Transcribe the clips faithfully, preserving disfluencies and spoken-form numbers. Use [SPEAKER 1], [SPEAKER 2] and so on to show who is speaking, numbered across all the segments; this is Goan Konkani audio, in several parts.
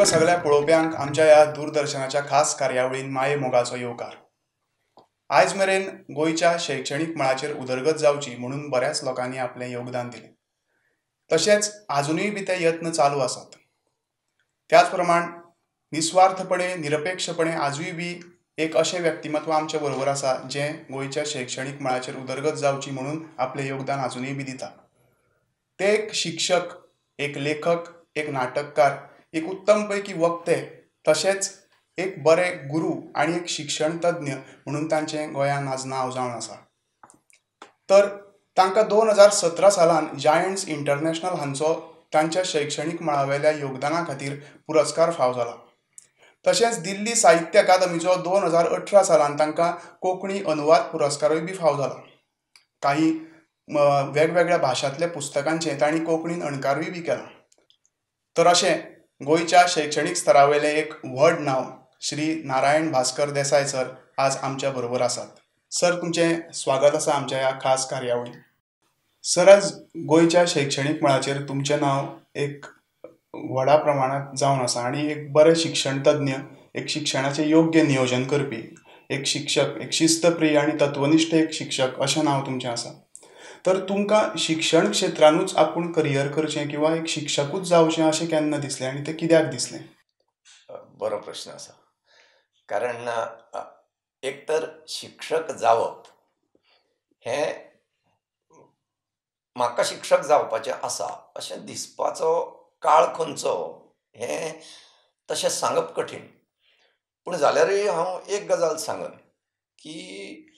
[SPEAKER 1] तुमकां सगळ्या पळोवप्यांक आमच्या ह्या दूरदर्शनाच्या खास कार्यावळीन माये मोगाचो येवकार. आयज मेरेन गोंयच्या शैक्षणीक मळाचेर उदरगत जावची म्हणून बऱ्याच लोकांनी आपलें योगदान दिलें, तशेंच आजुनूय बी ते यत्न चालू आसात. त्याच प्रमाण निस्वार्थपणे निरपेक्षपणे आजूय बी एक अशें व्यक्तिमत्व आमचे बरोबर आसा जें गोंयच्या शैक्षणीक मळाचेर उदरगत जावची म्हणून आपलें योगदान आजुनूय बी दिता. ते एक शिक्षक, एक लेखक, एक नाटककार, एक उत्तम पैकी वक्ते, तशेंच एक बरे गुरू आनी एक शिक्षण तज्ञ म्हणून तांचें गोंयांत आज नांव जावन आसा. तर तांकां दोन हजार सतरा सालान जायंट्स इंटरनॅशनल हांचो तांच्या शैक्षणीक मळावेल्या योगदाना खातीर पुरस्कार फाव जाला. तशेंच दिल्ली साहित्य अकादमीचो दोन हजार अठरा सालान तांकां कोंकणी अनुवाद पुरस्कारूय बी फाव जाला. काही वेगवेगळ्या भाशांतल्या पुस्तकांचें तांणी कोंकणीन अणकारूय बी केला. तर अशें गोंयच्या शैक्षणीक स्तरावेलें एक व्हड नांव श्री नारायण भास्कर देसाय सर आज आमच्या बरोबर आसात. सर, तुमचें स्वागत आसा आमच्या ह्या खास कार्यावळींत. सर, आज गोंयच्या शैक्षणीक मळाचेर तुमचें नांव एक व्हडा प्रमाणांत जावन आसा आनी एक बरें शिक्षण तज्ञ, एक शिक्षणाचें योग्य नियोजन करपी एक शिक्षक, एक शिस्तप्रिय आनी तत्वनिश्ठ एक शिक्षक अशें नांव तुमचें आसा. तर तुमकां शिक्षण क्षेत्रानूच आपूण करियर करचें किंवा एक शिक्षकूच जावचें अशें केन्ना दिसलें आनी तें कित्याक दिसलें?
[SPEAKER 2] बरो प्रश्न आसा. कारण एक तर शिक्षक जावप हें म्हाका शिक्षक जावपाचें आसा अशें दिसपाचो काळ खंयचो हें तशें सांगप कठीण. पूण जाल्यारूय हांव एक गजाल सांगन की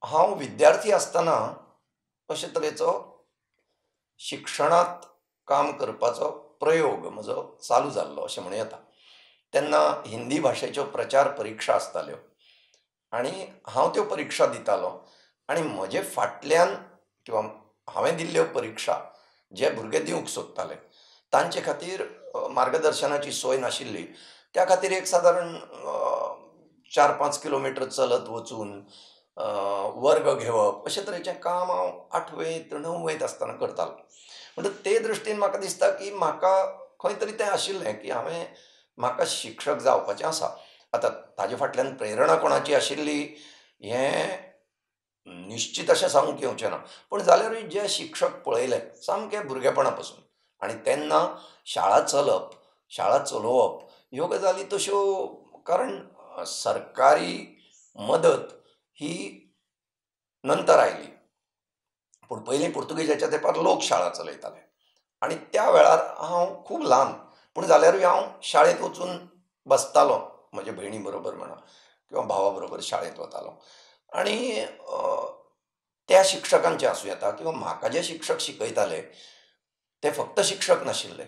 [SPEAKER 2] हांव विद्यार्थी आसतना अशे तरेचो शिक्षणांत काम करपाचो प्रयोग म्हजो चालू जाल्लो अशें म्हणूं येता. तेन्ना हिंदी भाशेच्यो प्रचार परिक्षा आसताल्यो आनी हांव त्यो परिक्षा दितालो आनी म्हजे फाटल्यान किंवा हांवें दिल्ल्यो परिक्षा जे भुरगे दिवंक सोदताले तांचे खातीर मार्गदर्शनाची सोय नाशिल्ली. त्या खातीर एक सादारण चार पांच किलोमिटर चलत वचून वर्ग घेवप अशे तरेचें काम हांव आठवेंत णव्वेंत आसतना करतालो. म्हणटकच ते दृश्टीन म्हाका दिसता की म्हाका खंय तरी तें आशिल्लें की हांवें म्हाका शिक्षक जावपाचें आसा. आतां ताजे फाटल्यान प्रेरणा कोणाची आशिल्ली हें निश्चित अशें सांगूंक येवचें ना, पूण जाल्यारूय जे शिक्षक पळयले सामके भुरगेपणा पासून आनी तेन्ना शाळा चलप, शाळा चलोवप ह्यो गजाली तश्यो, कारण सरकारी मदत ही नंतर आयली, पूण पयलीं पुर्तुगेजाच्या तेंपार लोक शाळा चलयताले आनी त्या वेळार हांव खूब ल्हान, पूण जाल्यारूय हांव शाळेंत वचून बसतालो, म्हज्या भयणी बरोबर म्हणा किंवा भावा बरोबर शाळेंत वतालो आनी त्या शिक्षकांचें आसूं येता किंवा म्हाका जे शिक्षक शिकयताले ते फक्त शिक्षक नाशिल्ले,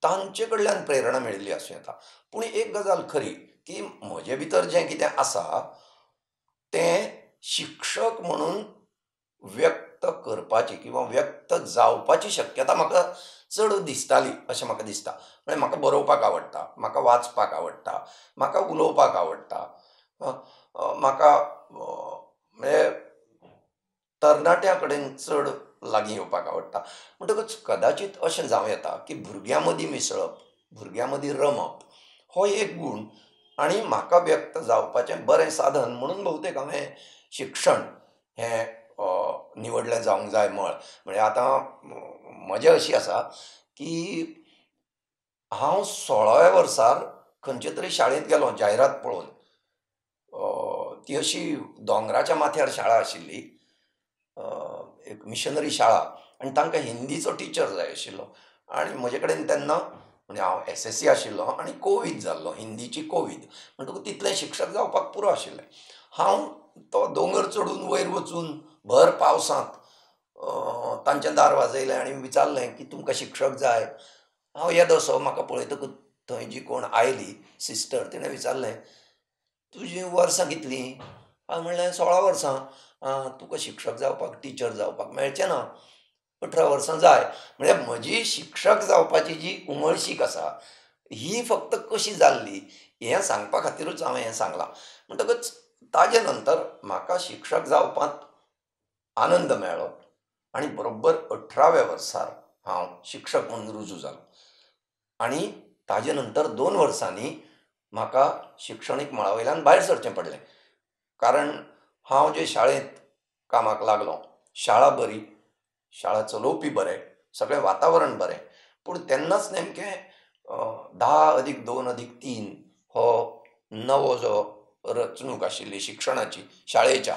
[SPEAKER 2] तांचे कडल्यान प्रेरणा मेळिल्ली आसूं येता. पूण एक गजाल खरी की म्हजे भितर जें कितें आसा तें शिक्षक म्हणून व्यक्त करपाची किंवा व्यक्त जावपाची शक्यता म्हाका चड दिसताली अशें म्हाका दिसता. म्हळ्यार म्हाका बरोवपाक आवडटा, म्हाका वाचपाक आवडटा, म्हाका उलोवपाक आवडटा, म्हाका म्हणजे तरणाट्यां कडेन चड लागीं येवपाक आवडटा. म्हणटकच कदाचीत अशें जावं येता की भुरग्यां मदीं मिसळप, भुरग्यां मदीं रमप हो एक गूण आनी म्हाका व्यक्त जावपाचें बरें साधन म्हणून भोवतेक हांवें शिक्षण हें निवडलें जावंक जाय मळ. म्हळ्यार आतां मजा अशी आसा की हांव सोळाव्या वर्सार खंयचे तरी शाळेंत गेलो जायरात पळोवन. ती अशी दोंगराच्या माथ्यार शाळा आशिल्ली, एक मिशनरी शाळा, आनी तांकां हिंदीचो टिचर जाय आशिल्लो आनी म्हजे कडेन तेन्ना म्हणजे हांव एस एस सी आशिल्लो आनी कोवीद जाल्लो, हिंदीची कोवीद, म्हणटकूच तितलें शिक्षक जावपाक पुरो आशिल्लें. हांव तो दोंगर चडून वयर वचून भर पावसांत तांचें दार वाजयलें आनी विचारलें की तुमकां शिक्षक जाय. हांव येदोसो, म्हाका पळयतकूच थंय जी कोण आयली सिस्टर, तिणें विचारलें तुजीं वर्सां कितलीं? हांवें म्हणलें सोळा वर्सां. आं, तुका शिक्षक जावपाक, टिचर जावपाक मेळचें ना, अठरा वर्सां जाय. म्हळ्यार म्हजी शिक्षक जावपाची जी उमळशीक आसा ही फक्त कशी जाल्ली हें सांगपा खातीरूच हांवें हें सांगलां. म्हणटकच ताजे नंतर म्हाका शिक्षक जावपांत आनंद मेळ्ळो आनी बरोबर अठराव्या वर्सार हांव शिक्षक म्हणून रुजू जालो आनी ताजे नंतर दोन वर्सांनी म्हाका शिक्षणीक मळा वयल्यान भायर सरचें पडलें. कारण हांव जे शाळेंत कामाक लागलो, शाळा बरी, शाळा चलोवपी बरे, सगळें वातावरण बरें, पूण तेन्नाच नेमकें धा अदीक दोन अदीक तीन हो नवो जो रचणूक आशिल्ली शिक्षणाची शाळेच्या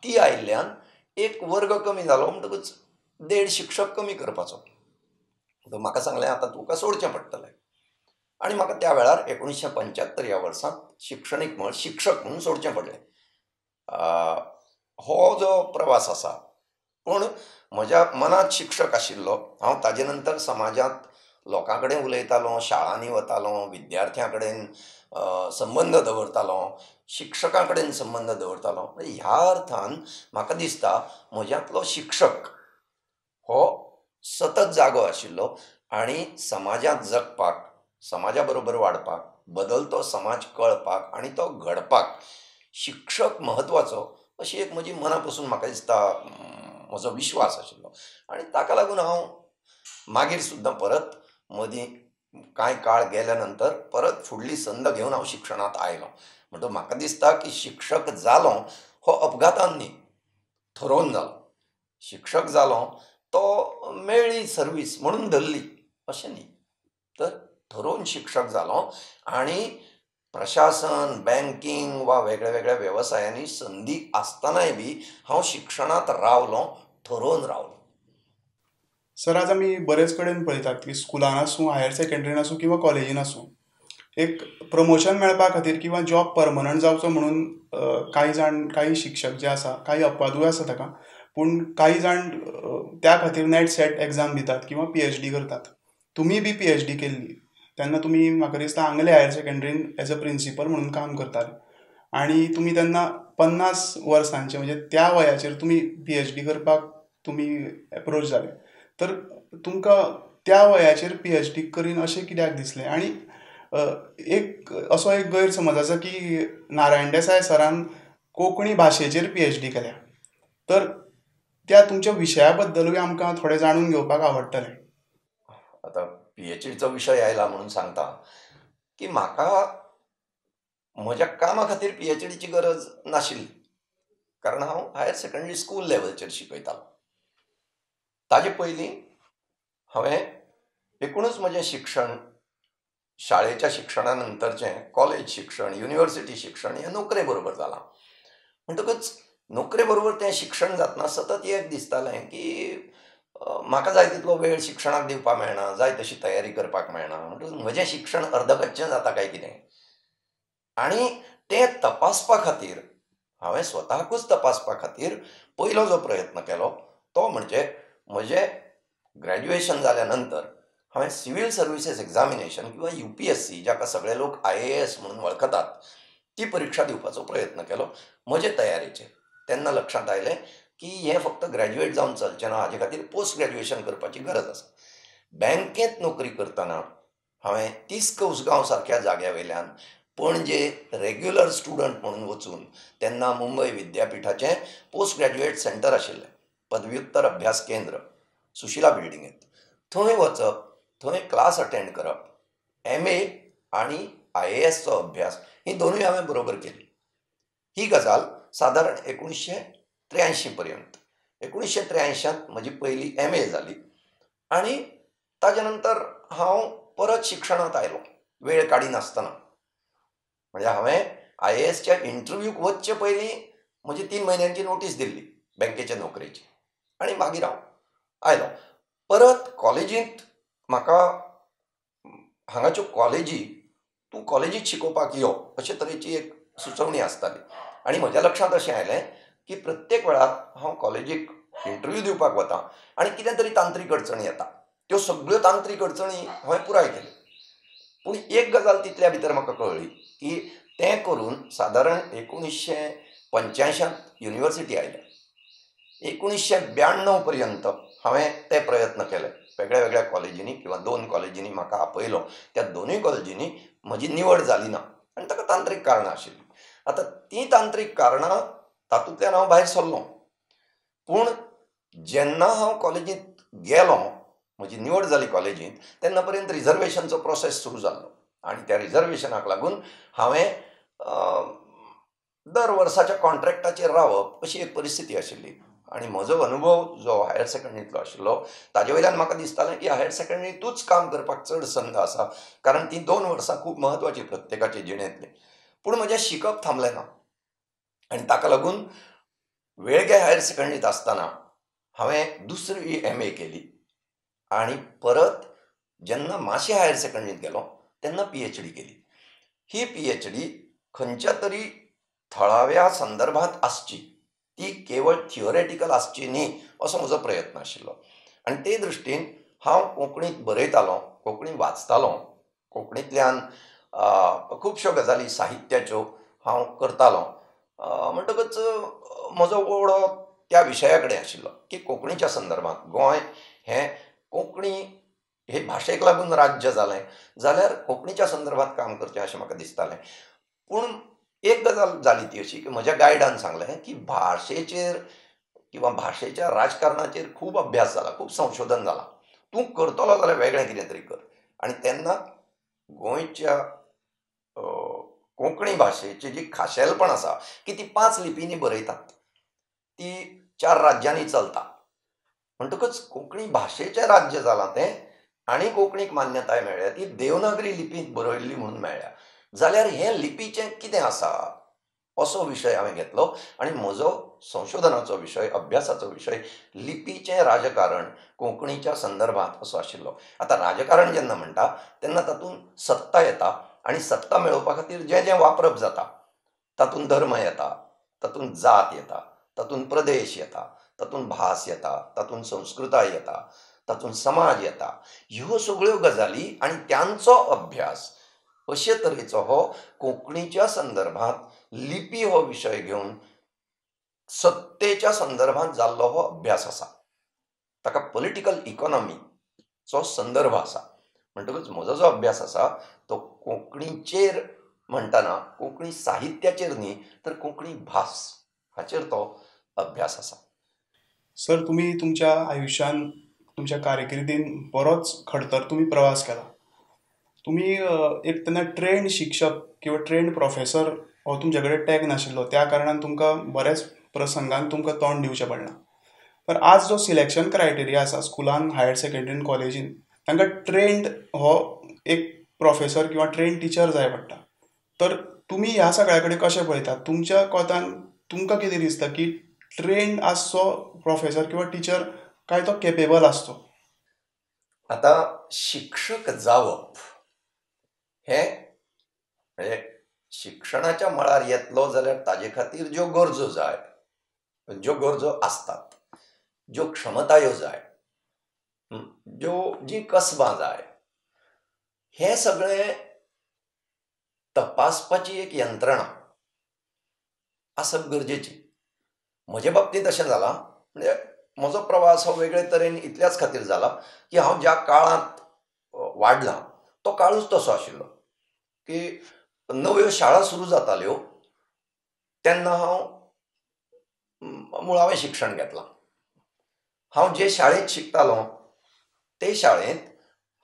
[SPEAKER 2] ती आयिल्ल्यान एक वर्ग कमी जालो म्हणटकूच देड शिक्षक कमी करपाचो. म्हाका सांगलें आतां तुका सोडचें पडटलें. आनी म्हाका त्या वेळार एकोणिशें पंच्यात्तर ह्या वर्सांत शिक्षणीक मळ शिक्षक म्हणून सोडचें पडलें. हो जो प्रवास आसा, पूण म्हज्या मनांत शिक्षक आशिल्लो हांव. ताजे नंतर समाजांत लोकां कडेन उलयतालो, शाळांनी वतालो, विद्यार्थ्यां कडेन संबंद दवरतालो, शिक्षकां कडेन संबंद दवरतालो. ह्या अर्थान म्हाका दिसता म्हज्यांतलो शिक्षक हो सतत जागो आशिल्लो आनी समाजांत जगपाक, समाजा बरोबर वाडपाक, बदलतो समाज कळपाक आनी तो घडपाक शिक्षक म्हत्वाचो अशी एक म्हजी मना पसून म्हाका दिसता म्हजो विश्वास आशिल्लो. आनी ताका लागून हांव मागीर सुद्दां परत मदीं कांय काळ गेल्या नंतर परत फुडली संद घेवन हांव शिक्षणांत आयलो. म्हणटकच म्हाका दिसता की शिक्षक जालो हो अपघातान न्ही, थरोवन जालो. शिक्षक जालो तो मेळ्ळी सर्वीस म्हणून धरली अशें न्ही, तर थरोवन शिक्षक जालो. आनी प्रशासन, बँकींग वा वेगळ्या वेगळ्या वेवसायांनी संदी आसतनाय बी हांव शिक्षणांत रावलो, थरोवन रावलो.
[SPEAKER 1] सर, आज आमी बरेच कडेन पळयतात की स्कुलान आसूं, हायर सेकंडरीन आसूं किंवा कॉलेजीन आसूं, एक प्रमोशन मेळपा खातीर किंवा जॉब परमनंट जावचो म्हणून कांय जाण, कांय शिक्षक जे आसा, कांय अपवादूय आसा ताका, पूण कांय जाण त्या खातीर नॅट सॅट एग्जाम दितात किंवा पी एच डी करतात. तुमी बी पी एच डी केल्ली तेन्ना तुमी म्हाका दिसता आंगले हायर सेकंडरीन एज अ प्रिंसिपल म्हणून काम करताले आनी तुमी तेन्ना पन्नास वर्सांचे म्हणजे त्या वयाचेर तुमी पी एच डी करपाक तुमी एप्रोच जाले. तर तुमकां त्या वयाचेर पी एच डी करीन अशें कित्याक दिसलें? आनी एक असो एक गैरसमज आसा की नारायण देसाय सरान कोंकणी भाशेचेर पी एच डी केल्या, तर त्या तुमच्या विशया बद्दलूय आमकां थोडें जाणून घेवपाक आवडटलें.
[SPEAKER 2] आतां पी एच डीचो विशय आयला म्हणून सांगता की म्हाका म्हज्या कामा खातीर पी एच डीची गरज नाशिल्ली, कारण हांव हायर सेकंडरी स्कूल लेवलचेर शिकयतालो. ताजे पयलीं हांवें एकूणच म्हजें शिक्षण शाळेच्या शिक्षणा नंतरचें कॉलेज शिक्षण, युनिवर्सिटी शिक्षण हें नोकरे बरोबर जालां. म्हणटकच नोकरे बरोबर तें शिक्षण जातना सतत एक दिसतालें की म्हाका जाय तितलो वेळ शिक्षणाक दिवपाक मेळना, जाय तशी तयारी करपाक मेळना, म्हणटकच म्हजें शिक्षण अर्दकच्चें जाता काय कितें. आनी तें तपासपा खातीर हांवें स्वताकूच तपासपा खातीर पयलो जो प्रयत्न केलो तो म्हणजे म्हजें ग्रॅज्युएशन जाल्या नंतर हांवें सिव्हील सर्विसीस एग्जामिनेशन किंवा यू पी एस सी, जाका सगळे लोक I A S म्हणून वळखतात, ती परिक्षा दिवपाचो प्रयत्न केलो म्हजे तयारेचेर. तेन्ना लक्षांत आयलें की हें फक्त ग्रॅज्युएट जावन चलचें ना, हाजे खातीर पोस्ट ग्रॅज्युएशन करपाची गरज आसा. बँकेंत नोकरी करतना हांवें तिस्क उसगांव सारक्या जाग्या वयल्यान पणजे रेग्युलर स्टुडंट म्हणून वचून तेन्ना मुंबय विद्यापिठाचें पोस्ट ग्रॅज्युएट सेंटर आशिल्लें, पदव्युत्तर अभ्यास केंद्र, सुशिला बिल्डिंगेंत, थंय वचप, थंय क्लास अटेंड करप, एम ए आनी I ए एसचो अभ्यास ही दोनूय हांवें बरोबर केली. ही गजाल सादारण एकोणिशें त्र्यांयशीं पर्यंत. एकोणिशें त्र्यांयशांत म्हजी पयली एम ए जाली आनी ताजे नंतर हांव परत शिक्षणांत आयलो वेळ काडिनासतना. म्हणजे हांवें I ए एसच्या इंटरव्यूक वचचे पयलीं म्हजी तीन म्हयन्यांची नोटीस दिल्ली बँकेचे नोकरेची, आनी मागीर हांव आयलो परत कॉलेजींत. म्हाका हांगाच्यो कॉलेजी, तूं कॉलेजींत शिकोवपाक यो अशे तरेची एक सुचोवणी आसताली. आनी म्हज्या लक्षांत अशें आयलें की प्रत्येक वेळार हांव कॉलेजीक इंटरव्यू दिवपाक वता आनी कितें तरी तांत्रीक अडचणी येता. त्यो सगळ्यो तांत्रीक अडचणी हांवें पुराय केल्यो. पूण एक गजाल तितल्या भितर म्हाका कळ्ळी की तें करून सादारण एकोणिशें पंच्यांयशांत युनिवर्सिटी आयल्या. एकोणिशें ब्याण्णव पर्यंत हांवें ते प्रयत्न केले. वेगळ्या वेगळ्या कॉलेजींनी किंवा दोन कॉलेजींनी म्हाका आपयलो, त्या दोनूय कॉलेजींनी म्हजी निवड जाली ना आनी ताका तांत्रीक कारणां आशिल्लीं. आतां तीं तांत्रीक कारणां तातूंतल्यान हांव भायर सरलो. पूण जेन्ना हांव कॉलेजींत गेलो म्हजी निवड जाली कॉलेजींत तेन्ना पर्यंत रिजर्वेशनचो प्रोसेस सुरू जाल्लो आनी त्या रिजर्वेशनाक लागून हांवें दर वर्साच्या कॉन्ट्रॅक्टाचेर रावप अशी एक परिस्थिती आशिल्ली. आनी म्हजो अनुभव जो हायर सेकंडरींतलो आशिल्लो ताजे वयल्यान म्हाका दिसतालें की हायर सेकंडरींतूच काम करपाक चड संद आसा, कारण ती दोन वर्सां खूब म्हत्वाची प्रत्येकाचे जिणेंतली. पूण म्हजें शिकप थांबलें ना आनी ताका लागून वेळगे हायर सेकंडरींत आसतना हांवें दुसरी एम ए केली आनी परत जेन्ना माशे हायर सेकंडरींत गेलो तेन्ना पी एच डी केली. ही पी एच डी खंयच्या तरी थळाव्या संदर्भात आसची, ती केवळ थियोरेटिकल आसची न्ही असो म्हजो प्रयत्न आशिल्लो. आनी ते दृश्टीन हांव कोंकणींत बरयतालो, कोंकणी वाचतालो, कोंकणींतल्यान खुबश्यो गजाली साहित्याच्यो हांव करतालो. म्हणटकच म्हजो ओडो त्या विशया कडेन आशिल्लो की कोंकणीच्या संदर्भात गोंय हें कोंकणी हे भाशेक लागून राज्य जालें जाल्यार कोंकणीच्या संदर्भात काम करचें अशें म्हाका दिसतालें. पूण एक गजाल जाली ती अशी की म्हज्या गायडान सांगलें की भाशेचेर किंवा भाशेच्या राजकारणाचेर खूब अभ्यास जाला, खूब संशोधन जालां, तूं करतलो जाल्यार वेगळें कितें तरी कर. आनी तेन्ना गोंयच्या कोंकणी भाशेची जी खाशेलपण आसा की ती पांच लिपींनी बरयतात, ती चार राज्यांनी चलता, म्हणटकच कोंकणी भाशेचें राज्य जालां तें आनी कोंकणीक मान्यताय मेळ्ळ्या ती देवनागरी लिपींत बरयल्ली म्हणून मेळ्ळ्या. जाल्यार हें लिपीचें कितें आसा असो विशय हांवें घेतलो आनी म्हजो संशोधनाचो विशय, अभ्यासाचो विशय लिपीचें राजकारण कोंकणीच्या संदर्भात असो आशिल्लो. आतां राजकारण जेन्ना म्हणटा तेन्ना तातूंत सत्ता येता आनी सत्ता मेळोवपा खातीर जें जें वापरप जाता तातूंत धर्म येता, तातूंत जात येता, तातूंत प्रदेश येता, तातूंत भास येता, तातूंत संस्कृताय येता, तातूंत समाज येता. ह्यो सगळ्यो गजाली आनी त्यांचो अभ्यास अशे तरेचो हो कोंकणीच्या संदर्भात लिपी हो विशय घेवन सत्तेच्या संदर्भात जाल्लो हो अभ्यास आसा. ताका पॉलिटिकल इकॉनॉमीचो संदर्भ आसा. म्हणटकच म्हजो जो अभ्यास आसा तो कोंकणीचेर म्हणटना कोंकणी साहित्याचेर न्ही तर कोंकणी भास हाचेर तो अभ्यास आसा.
[SPEAKER 1] सर, तुमी तुमच्या आयुश्यान तुमच्या कारकिर्दीन बरोच खडतर तुमी प्रवास केला. तुमी एक तेन्ना ट्रेंड शिक्षक किंवा ट्रेंड प्रोफेसर हो तुमचे कडेन टॅग नाशिल्लो, त्या कारणान तुमकां बऱ्याच प्रसंगान तुमकां तोंड दिवचें पडलां. तर आज जो सिलेक्शन क्रायटेरिया आसा स्कुलान, हायर सेकंडरीन, कॉलेजीन, तांकां ट्रेंड हो एक प्रोफेसर किंवा ट्रेंड टिचर जाय पडटा. तर तुमी ह्या सगळ्या कडेन कशें पळयतात? तुमच्या कोतान तुमकां कितें दिसता की ट्रेंड आसचो प्रोफेसर किंवा टिचर काय तो केपेबल आसचो?
[SPEAKER 2] आतां शिक्षक जावप हें म्हणजे शिक्षणाच्या मळार येतलो जाल्यार ताजे खातीर ज्यो गरजो जाय, ज्यो गरजो आसतात, ज्यो क्षमतायो जाय, ज्यो जीं कसबां जाय, हें सगळें तपासपाची एक यंत्रणा आसप गरजेची. म्हजे बाबतींत अशें जालां, म्हणजे म्हजो प्रवास हो वेगळे तरेन इतल्याच खातीर जाला की हांव ज्या काळांत वाडलां तो काळूच तसो आशिल्लो की नव्यो शाळा सुरू जाताल्यो तेन्ना हांव मुळावें शिक्षण घेतलां. हांव जे शाळेंत शिकतालो ते शाळेंत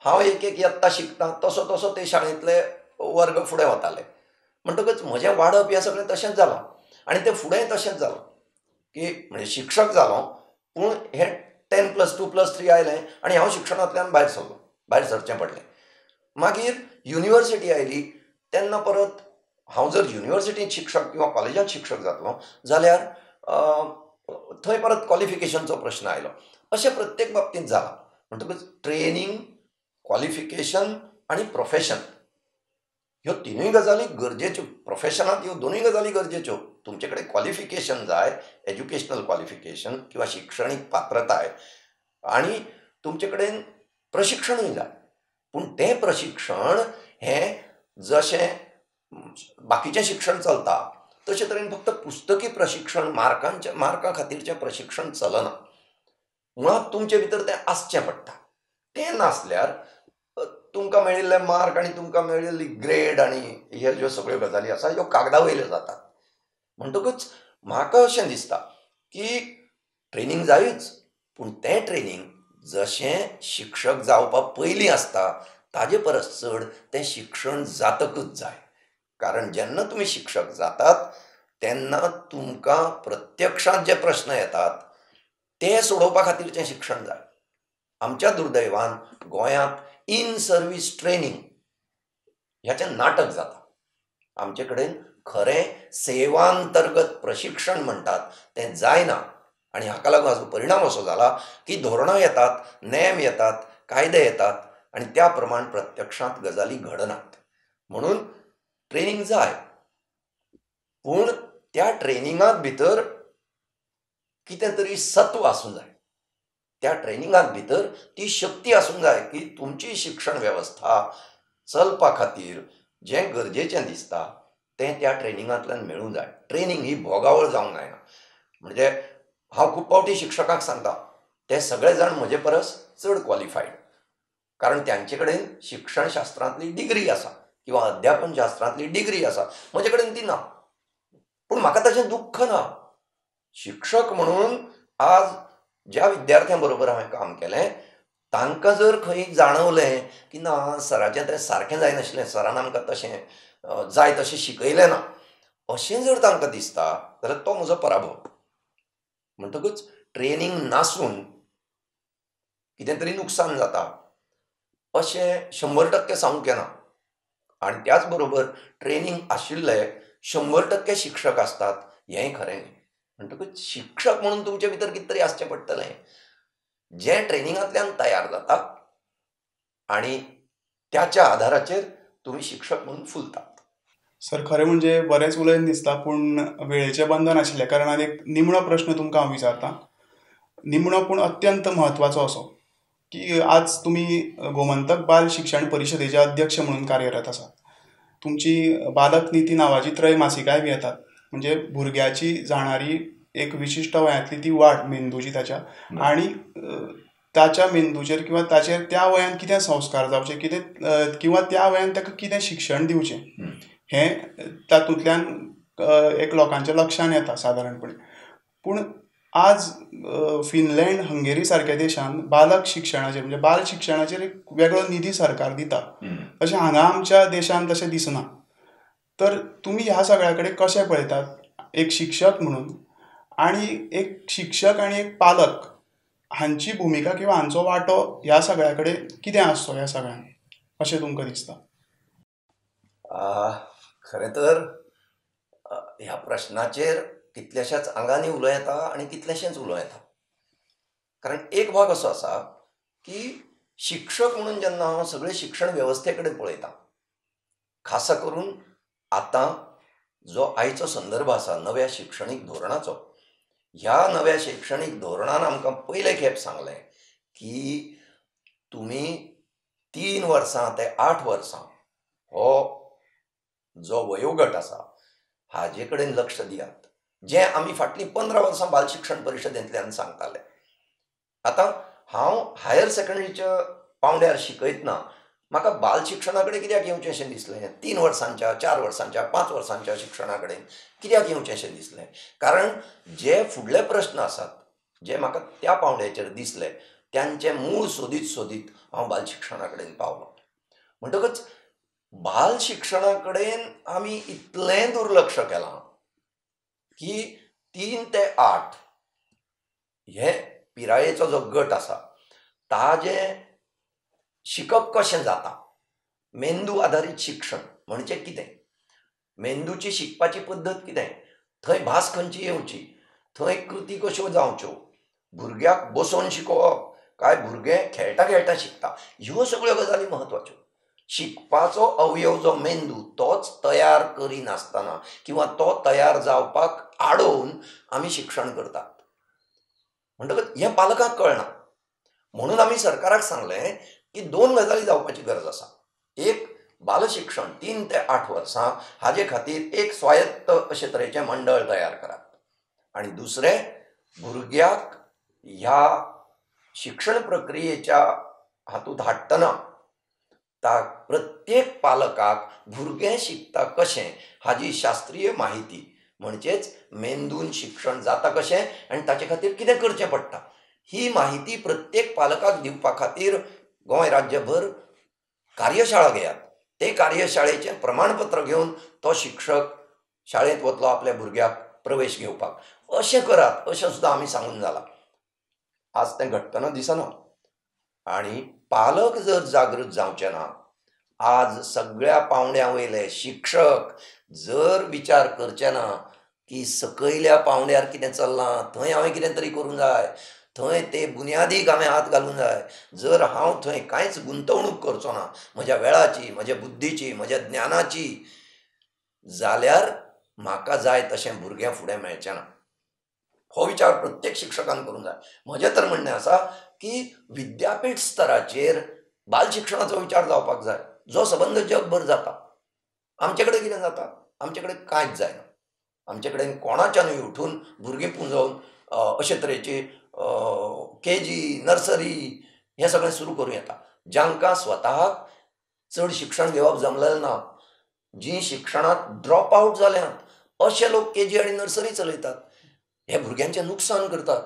[SPEAKER 2] हांव एक एक यत्ता शिकता तसो तसो ते शाळेंतले वर्ग फुडें वताले. म्हणटकच म्हजें वाडप हें सगळें तशेंच जालां आनी तें फुडेंय तशेंच जालां की म्हणजे शिक्षक जालो पूण हें ten plus two plus three आयलें आनी हांव शिक्षणांतल्यान भायर सरलो, भायर सरचें पडलें. मागीर युनिवर्सिटी आयली तेन्ना परत हांव जर युनिवर्सिटींत शिक्षक किंवा कॉलेजांत शिक्षक जातलो जाल्यार थंय परत क्वॉलिफिकेशनचो प्रश्न आयलो. अशें प्रत्येक बाबतींत जालां. म्हणटकच ट्रेनींग, क्वॉलिफिकेशन आनी प्रोफेशन ह्यो तिनूय गजाली गरजेच्यो. प्रोफेशनांत ह्यो दोनूय गजाली गरजेच्यो. तुमचे कडेन क्वॉलिफिकेशन जाय, एज्युकेशनल क्वॉलिफिकेशन किंवा शिक्षणीक पात्रताय, आनी तुमचे कडेन प्रशिक्षणूय जाय. पूण तें प्रशिक्षण हें जशें बाकीचें शिक्षण चलता तशें तरेन फक्त पुस्तकी प्रशिक्षण, मार्कांच्या मार्कां खातीरचें प्रशिक्षण चलना. मुळांत तुमचे भितर तें आसचें पडटा. तें नासल्यार तुमकां मेळिल्ले मार्क आनी तुमकां मेळिल्ली ग्रेड आनी ह्यो ज्यो सगळ्यो गजाली आसा ह्यो कागदा वयल्यो जातात. म्हणटकच म्हाका अशें दिसता की ट्रेनींग जायूच, पूण तें ट्रेनींग जशें शिक्षक जावपा पयलीं आसता ताजे परस चड तें शिक्षण जातकच जाय. कारण जेन्ना तुमी शिक्षक जातात तेन्ना तुमकां प्रत्यक्षांत जे प्रश्न येतात ते सोडोवपा खातीरचें शिक्षण जाय. आमच्या दुर्दैवान गोंयांत इन सर्वीस ट्रेनींग ह्याचें नाटक जाता. आमचे कडेन खरें सेवांतर्गत प्रशिक्षण म्हणटात तें जायना आनी हाका लागून हाचो परिणाम असो जाला की धोरणां येतात, नेम येतात, कायदे येतात आनी त्या प्रमाण प्रत्यक्षांत गजाली घडनात. म्हणून ट्रेनींग जाय, पूण त्या ट्रेनिंगांत भितर कितें तरी सत्व आसूंक जाय, त्या ट्रेनिंगांत भितर ती शक्ती आसूंक जाय की तुमची शिक्षण वेवस्था चलपा खातीर जें गरजेचें दिसता तें त्या ट्रेनिंगांतल्यान मेळूंक जाय. ट्रेनींग ही भोगावळ जावंक जायना. म्हणजे हांव खूब फावटी शिक्षकांक सांगता ते सगळे जाण म्हजे परस चड क्वॉलिफायड, कारण त्यांचे कडेन शिक्षणशास्त्रांतली डिग्री आसा किंवा अध्यापन शास्त्रांतली डिग्री आसा, म्हजे कडेन ती ना. पूण म्हाका ताचें दुख्ख ना. शिक्षक म्हणून आज ज्या विद्यार्थ्यां बरोबर हांवें काम केलें तांकां जर खंय जाणवलें की ना सराचें तें सारकें जायनाशिल्लें, सरान आमकां तशें जाय तशें शिकयलें ना, अशें जर तांकां दिसता जाल्यार तो म्हजो पराभव. म्हणटकूच ट्रेनींग नासून कितें तरी नुकसान जाता अशें शंबर टक्के सांगूंक येना. आनी त्याच बरोबर ट्रेनींग आशिल्ले शंबर टक्के शिक्षक आसतात हेंय खरें न्ही. म्हणटकूच शिक्षक म्हणून तुमचे भितर कितें तरी आसचें पडटलें जें ट्रेनिंगांतल्यान तयार जाता आनी त्याच्या आधाराचेर तुमी शिक्षक म्हणून फुलतात.
[SPEAKER 1] सर, खरें म्हणजे बरेंच उलयन दिसता पूण वेळेचें बंधन आशिल्ल्या कारणान एक निमणो प्रश्न तुमकां हांव विचारतां, निमणो पूण अत्यंत म्हत्वाचो असो की आज तुमी गोमंतक बाल शिक्षण परिशदेचे अध्यक्ष म्हणून कार्यरत आसात. तुमची बालक निती नांवाची त्रैमासिकाय बी येतात, म्हणजे भुरग्याची जाणारी एक विशिश्ट वयांतली ती वाड मेंदूची ताच्या आनी ताच्या मेंदूचेर किंवा ताचेर त्या वयान कितें संस्कार जावचे, कितें किंवा त्या वयान ताका कितें शिक्षण दिवचें हें तातूंतल्यान एक लोकांच्या लक्षान येता सादारणपणे. पूण आज फिनलँड, हंगेरी सारक्या देशान बालक शिक्षणाचेर म्हणजे बाल शिक्षणाचेर एक वेगळो निधी सरकार दिता, तशें हांगा आमच्या देशान तशें दिसना. तर तुमी ह्या सगळ्या कडेन कशें पळयतात एक शिक्षक म्हणून, आनी एक शिक्षक आनी एक पालक हांची भुमिका किंवा हांचो वांटो ह्या सगळ्या कडेन कितें आसचो ह्या सगळ्यांत अशें तुमकां दिसता?
[SPEAKER 2] खरें तर ह्या प्रश्नाचेर कितल्याशाच आंगांनी उलोवं येता आनी कितलेशेंच उलोवं येता. कारण एक भाग असो आसा की शिक्षक म्हणून जेन्ना हांव सगळे शिक्षण वेवस्थे कडेन पळयतां, खासा करून आतां जो आयचो संदर्भ आसा नव्या शिक्षणीक धोरणाचो, ह्या नव्या शिक्षणीक धोरणान आमकां पयले खेप सांगलें की तुमी तीन वर्सां ते आठ वर्सां हो जो वयोगट आसा हाजे कडेन लक्ष दियात, जें आमी फाटलीं पंदरा वर्सां बाल शिक्षण परिशदेंतल्यान सांगताले. आतां हांव हायर सेकंडरीच्या पावंड्यार शिकयतना म्हाका बाल शिक्षणा कडेन कित्याक येवचें अशें दिसलें, तीन वर्सांच्या, चार वर्सांच्या, पांच वर्सांच्या शिक्षणा कडेन कित्याक येवचें अशें दिसलें, कारण जे फुडले प्रश्न आसात जे म्हाका त्या पावंड्याचेर दिसले त्यांचें मूळ सोदीत सोदीत हांव बाल शिक्षणा कडेन पावलो. म्हणटकच बाल शिक्षणा कडेन आमी इतलें दुर्लक्ष केलां की तीन ते आठ हे पिरायेचो जो गट आसा ताजें शिकप कशें जाता, मेंदू आधारीत शिक्षण म्हणजे कितें, मेंदूची शिकपाची पद्दत कितें, थंय भास खंयची येवची, थंय कृती कश्यो जावच्यो, भुरग्याक बसोवन शिकोवप काय भुरगें खेळटा खेळटा शिकता, ह्यो सगळ्यो गजाली म्हत्वाच्यो. शिकपाचो अवयव जो मेंदू तोच तयार करिनासतना किंवा तो तयार जावपाक आडोवन आमी शिक्षण करतात. म्हणटकच हें पालकांक कळना. म्हणून आमी सरकाराक सांगलें की दोन गजाली जावपाची गरज आसा. एक, बालशिक्षण तीन ते आठ वर्सां हाजे खातीर एक स्वायत्त अशे तरेचें मंडळ तयार करात, आनी दुसरें, भुरग्याक ह्या शिक्षण प्रक्रियेच्या हातूंत हाडटना ता प्रत्येक पालकाक भुरगें शिकता कशें हाजी शास्त्रीय माहिती, म्हणजेच मेंदून शिक्षण जाता कशें आनी ताचे खातीर कितें करचें पडटा, ही माहिती प्रत्येक पालकाक दिवपा खातीर गोंय राज्यभर कार्यशाळा घेयात. ते कार्यशाळेचें प्रमाणपत्र घेवन तो शिक्षक शाळेंत वतलो आपल्या भुरग्याक प्रवेश घेवपाक. अशें करात अशें सुद्दां आमी सांगून जालां. आज तें घडटना दिसना. आनी पालक जर जागृत जावचे ना, आज सगळ्या पावंड्या वयले शिक्षक जर विचार करचे ना की सकयल्या पावंड्यार कितें चल्लां थंय हांवें कितें तरी करूंक जाय, थंय ते बुन्यादीक हांवें हात घालूंक जाय, जर हांव थंय कांयच गुंतवणूक करचो ना म्हज्या वेळाची, म्हज्या बुद्धीची, म्हज्या ज्ञानाची, जाल्यार म्हाका जाय तशें भुरगें फुडें मेळचें ना. हो विचार प्रत्येक शिक्षकान करूंक जाय. म्हजें तर म्हणणें आसा की विद्यापीठ स्तराचेर बाल शिक्षणाचो विचार जावपाक जाय, जो सबंद जगभर जाता. आमचे कडेन कितें जाता? आमचे कडेन कांयच जायना. आमचे कडेन कोणाच्यानूय उठून भुरगीं पुंजोवन अशे तरेची के जी, नर्सरी हें सगळें सुरू करूं येता. जांकां स्वताक चड शिक्षण घेवप जमलेलें ना, जीं शिक्षणांत ड्रॉप आवट जाल्यांत अशे लोक के जी आनी नर्सरी चलयतात, हे भुरग्यांचें नुकसान करतात.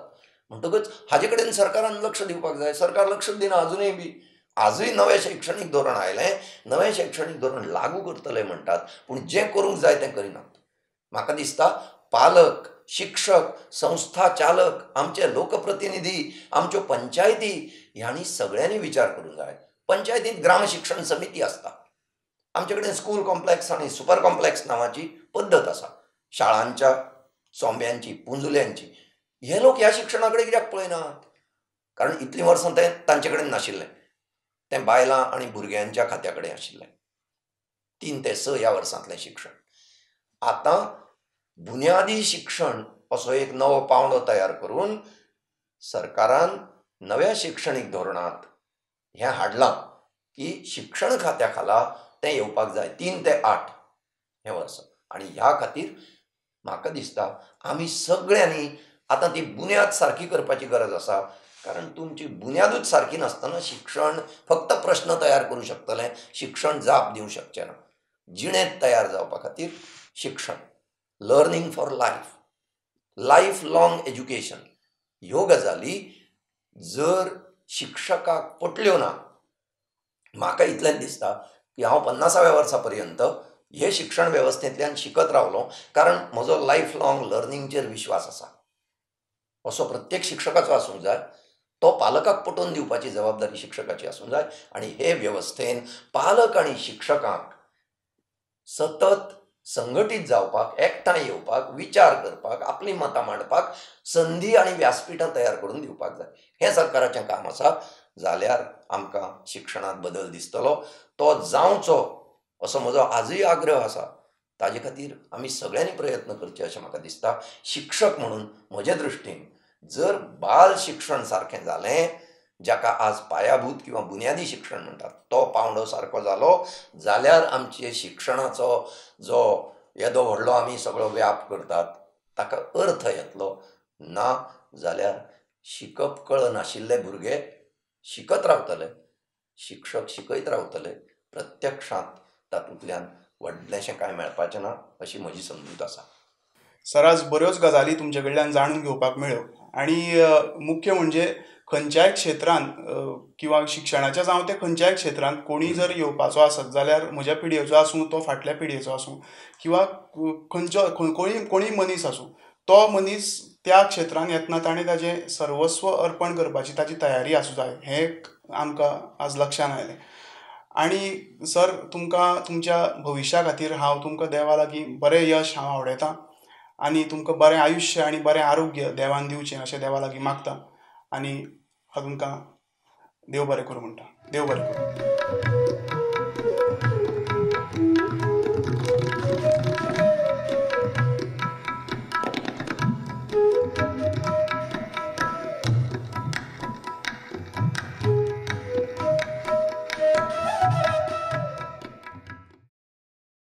[SPEAKER 2] म्हणटकच हाजे कडेन सरकारान लक्ष दिवपाक जाय. सरकार लक्ष दिना अजुनूय बी. आजूय नवें शैक्षणीक धोरण आयलें, नवें शैक्षणीक धोरण लागू करतले म्हणटात, पूण जें करूंक जाय तें करिनात. म्हाका दिसता पालक, शिक्षक, संस्था चालक, आमचे लोकप्रतिनिधी, आमच्यो पंचायती ह्यांनी सगळ्यांनी विचार करूंक जाय. पंचायतींत ग्राम शिक्षण समिती आसता. आमचे कडेन स्कूल कॉम्प्लेक्स आनी सुपर कॉम्प्लेक्स नांवाची पद्दत आसा, शाळांच्या चोंब्यांची, पुंजुल्यांची. हे लोक ह्या शिक्षणा कडेन कित्याक पळयनात? कारण इतलीं वर्सां तें तांचे कडेन नाशिल्लें, तें बायलां आनी भुरग्यांच्या खात्या कडेन आशिल्लें, तीन ते स ह्या वर्सांतलें शिक्षण. आतां बुन्यादी शिक्षण असो एक नवो पावंडो तयार करून सरकारान नव्या शिक्षणीक धोरणांत हें हाडलां की शिक्षण खात्या खाला तें येवपाक जाय, तीन ते आठ हें वर्स. आनी ह्या खातीर म्हाका दिसता आमी सगळ्यांनी आतां ती बुन्याद सारकी करपाची गरज आसा. कारण तुमची बुन्यादूच सारकी नासतना शिक्षण फक्त प्रश्न तयार करूं शकतलें, शिक्षण जाप दिवंक शकचें ना. जिणेंत तयार जावपा खातीर शिक्षण, learning for life, life long education ह्यो गजाली जर शिक्षकाक पटल्यो ना, म्हाका इतलेंच दिसता की हांव पन्नासाव्या वर्सा पर्यंत हे शिक्षण वेवस्थेंतल्यान शिकत रावलो, कारण म्हजो लायफ लॉंग लर्निंगचेर विश्वास आसा. असो प्रत्येक शिक्षकाचो आसूंक जाय. तो पालकाक पटोवन दिवपाची जबाबदारी शिक्षकाची आसूंक जाय. आनी हे वेवस्थेन पालक आनी शिक्षकांक सतत संघटीत जावपाक, एकठांय येवपाक, विचार करपाक, आपलीं मतां मांडपाक संदी आनी व्यासपिठां तयार करून दिवपाक जाय. हें सरकाराचें काम आसा. जाल्यार आमकां शिक्षणांत बदल दिसतलो. तो जावचो असो म्हजो आजूय आग्रह आसा. ताजे खातीर आमी सगळ्यांनी प्रयत्न करचे अशें म्हाका दिसता. शिक्षक म्हणून म्हजे दृश्टीन जर बाल शिक्षण सारकें जालें, जाका आज पायाभूत किंवा बुन्यादी शिक्षण म्हणटात, तो पावंडो सारको जालो जाल्यार आमचे शिक्षणाचो जो येदो व्हडलो आमी सगळो व्याप करतात ताका अर्थ येतलो. ना जाल्यार शिकप कळनाशिल्ले भुरगे शिकत रावतले, शिक्षक शिकयत रावतले, प्रत्यक्षांत तातूंतल्यान व्हडलेंशें कांय मेळपाचें ना अशी म्हजी समजूत आसा.
[SPEAKER 1] सर, आज बऱ्योच गजाली तुमचे कडल्यान जाणून घेवपाक मेळ्ळ्यो आनी मुख्य म्हणजे खंयच्याय क्षेत्रांत किंवा शिक्षणाच्या जावं ते खंयच्याय क्षेत्रांत कोणी जर येवपाचो आसत जाल्यार म्हज्या पिढयेचो आसूं, तो फाटल्या पिढयेचो आसूं, किंवा खंयचो कोणी कोणी मनीस आसूं, तो मनीस त्या क्षेत्रांत येतना ताणें ताजें सर्वस्व अर्पण करपाची ताजी तयारी आसूं जाय, हें आमकां आज लक्षांत आयलें. आनी सर, तुमकां तुमच्या भविश्या खातीर हांव तुमकां देवा लागीं बरें यश हांव आवडयतां आनी तुमकां बरें आयुश्य आनी बरें आरोग्य देवान दिवचें अशें देवा लागीं मागता आनी हांव तुमकां देव बरें करूं म्हणटा. देव बरें करूं.